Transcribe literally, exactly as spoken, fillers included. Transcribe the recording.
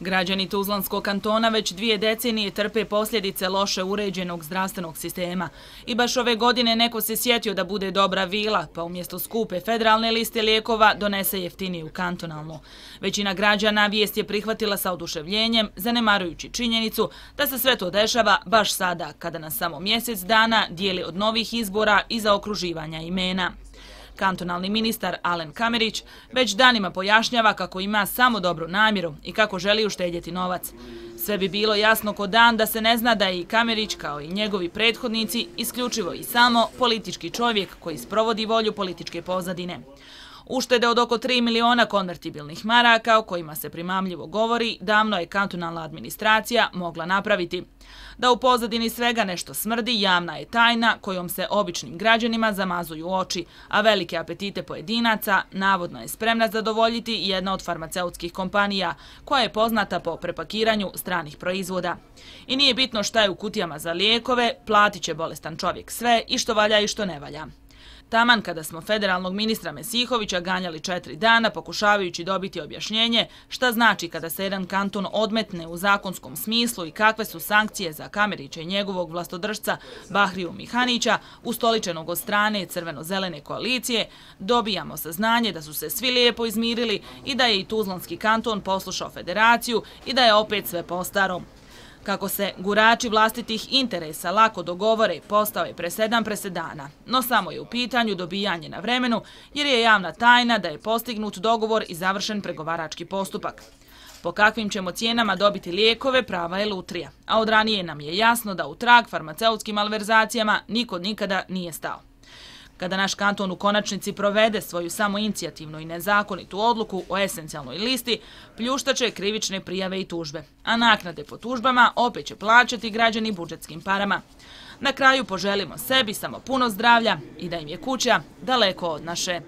Građani Tuzlanskog kantona već dvije decenije trpe posljedice loše uređenog zdravstvenog sistema. I baš ove godine neko se sjetio da bude dobra vila, pa umjesto skupe federalne liste lijekova donese jeftiniju kantonalnu. Većina građana vijest je prihvatila sa oduševljenjem, zanemarujući činjenicu da se sve to dešava baš sada, kada nas samo mjesec dana dijeli od novih izbora i zaokruživanja imena. Kantonalni ministar Alen Kamerić već danima pojašnjava kako ima samo dobru namjeru i kako želi uštedjeti novac. Sve bi bilo jasno ko dan da se ne zna da je i Kamerić, kao i njegovi prethodnici, isključivo i samo politički čovjek koji sprovodi volju političke pozadine. Uštede od oko tri miliona konvertibilnih maraka, o kojima se primamljivo govori, davno je kantonalna administracija mogla napraviti. Da u pozadini svega nešto smrdi, javna je tajna kojom se običnim građanima zamazuju oči, a velike apetite pojedinaca navodno je spremna zadovoljiti jedna od farmaceutskih kompanija, koja je poznata po prepakiranju stranih proizvoda. I nije bitno šta je u kutijama za lijekove, platit će bolestan čovjek sve i što valja i što ne valja. Taman kada smo federalnog ministra Mesihovića ganjali četiri dana pokušavajući dobiti objašnjenje šta znači kada se jedan kanton odmetne u zakonskom smislu i kakve su sankcije za Kamerića i njegovog vlastodržca Bahriju Mihanića, ustoličenog od strane crveno-zelene koalicije, dobijamo saznanje da su se svi lijepo izmirili i da je i Tuzlanski kanton poslušao federaciju i da je opet sve po starom. Kako se gurači vlastitih interesa lako dogovore, postao je presedan presedana, no samo je u pitanju dobijanje na vremenu, jer je javna tajna da je postignut dogovor i završen pregovarački postupak. Po kakvim ćemo cijenama dobiti lijekove, prava je lutrija, a od ranije nam je jasno da u trag farmaceutskim malverzacijama niko nikada nije stao. Kada naš kanton u konačnici provede svoju samoinicijativnu i nezakonitu odluku o esencijalnoj listi, pljuštaće krivične prijave i tužbe, a naknade po tužbama opet će plaćati građani budžetskim parama. Na kraju poželimo sebi samo puno zdravlja i da im je kuća daleko od naše.